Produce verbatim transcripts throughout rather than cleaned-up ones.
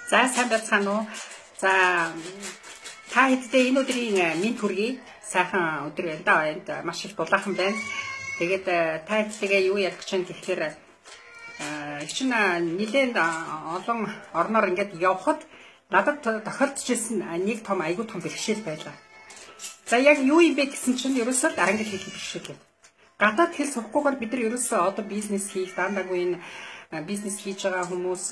За сайн байцгаана уу. За та хэддээ энэ өдрийн минь төргий сайхан өдөр байна да. Энд маш их дулаахан байна. Тэгээд та хэддээ юу ярих гэж байна гэхээр чинь нэлээд олон орноор ингээд явхад надад тохиолдож ирсэн нэг том айгүй том бэрхшээл байлаа. За яг юу юм бэ гэсэн чинь ерөөсөө англи хэл бэрхшээл. Гадаад хэл сурахгүйгээр бид нар ерөөсөө одоо бизнес хийх дандаагүй бизнес хийж байгаа хүмүүс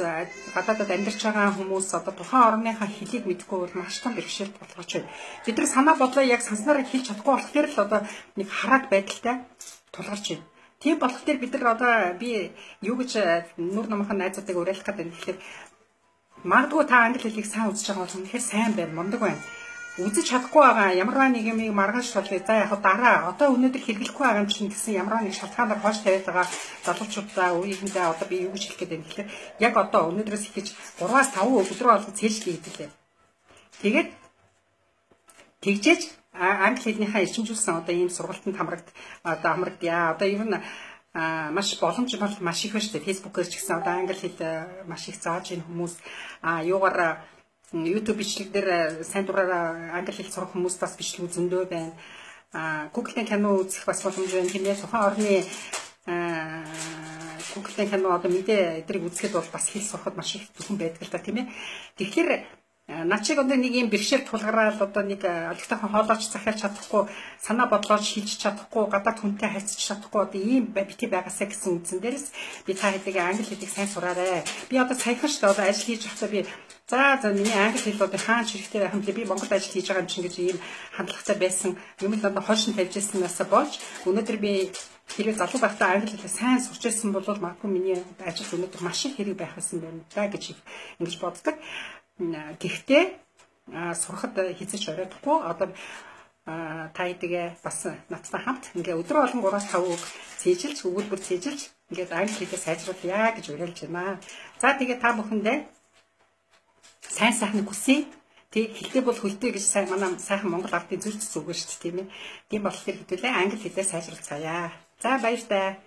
гадаадад амьдарч байгаа хүмүүс одоо тухайн орныхаа хэлийг мэдэхгүй бол маш том бэрхшээлд болгож байна. Бид нар санаа бодлоо яг санснараа хэлж чадахгүй болохоор л одоо нэг хараад байдалтай тулгарч байна. Тийм болохоор бид нар одоо би юу гэж нүр номхон найзуудыг уриалах гэдэг нь тэгэхээр магадгүй та англи хэлийг сайн үзэж байгаа бол үнэхээр сайн байна, мундаг байна. Үзэж чадахгүй байгаа ямарваа нэг юм маргааш шалгая. За яг дараа одоо өнөөдөр хэрэглэхгүй байгаа юм чинь гэсэн ямарваа нэг шалтгаанаар хоош тавиад байгаа залуучуудаа үеийнхэндээ одоо би юу гэж хэлэх гээд байна гэхээр яг одоо өнөөдрөөс эхэж гураваас таван өдөр болгоо цээлжлээ хэвлээ. Тэгээд тэгжээж англи хэлнийхаа эрчимжүүлсэн одоо ийм сургалтанд хамрагд одоо хамрагдъя. Одоо ер нь маш боломж бол маш их байна шүү дээ. Фэйсбүүкээр ч гэсэн одоо англи хэл маш их зааж ийн хүмүүс а юугаар YouTube бичлэг дээр сайн дураараа англи хэл сурах хүмүүс бас бичлэг зөндөө байна. А Google-ийн кино үзэх бас боломж байна. Тиймээ тухайн орны Google-ийн кино одоо мэдээ эдрийг үзэхэд бол бас хэл сурахад маш их зөвхөн байдаг л та тийм ээ. Тэгэхээр начиг одоо нэг юм бэрхшээл тулгараад одоо нэг олигтойхон хоолойч захиалж чадахгүй, санаа бодлооч хийж чадахгүй, гадаад хүнтэй харьцаж чадахгүй одоо ийм бити байгаасаа гэсэн үндсэн дээрээс би та хэдийг англи хэлийг сайн сураарай. Би одоо саяхан ч одоо ажил хийж байхдаа би за за миний англи хэл одоо хаан хэрэгтэй байх юм би Монгол ажил хийж байгаа юм чинь гэж ийм хандлагатай байсан. Юм л одоо хойшин тавьж ирсэнээс болж өнөөдөр би хэрвээ залуу байхдаа англи хэлээ сайн сурч ирсэн бол магадгүй миний ажил өнөөдөр маш их хэрэг байх байсан байна да гэж ингэж боддог. Гэхдээ сурахад хязгаарч ороодохгүй одоо та хэдийгээ бас надтай хамт ингээ өдрөө болон гураас таван үг цээжилж өгүүлбэр цээжилж ингээд англи хэлээ сайжруулъя гэж уриалж байна. За тэгээ та бүхэндээ сайн сайхныг хүсье. Тэг хэлтэй бол хөлтэй гэж сайн манай сайхан Монгол ардын зүрх зүс үгээр шүү дээ тийм ээ. Тийм болохоор хэдүүлээ англи хэлээ сайжруулцгаая. За баяр таа.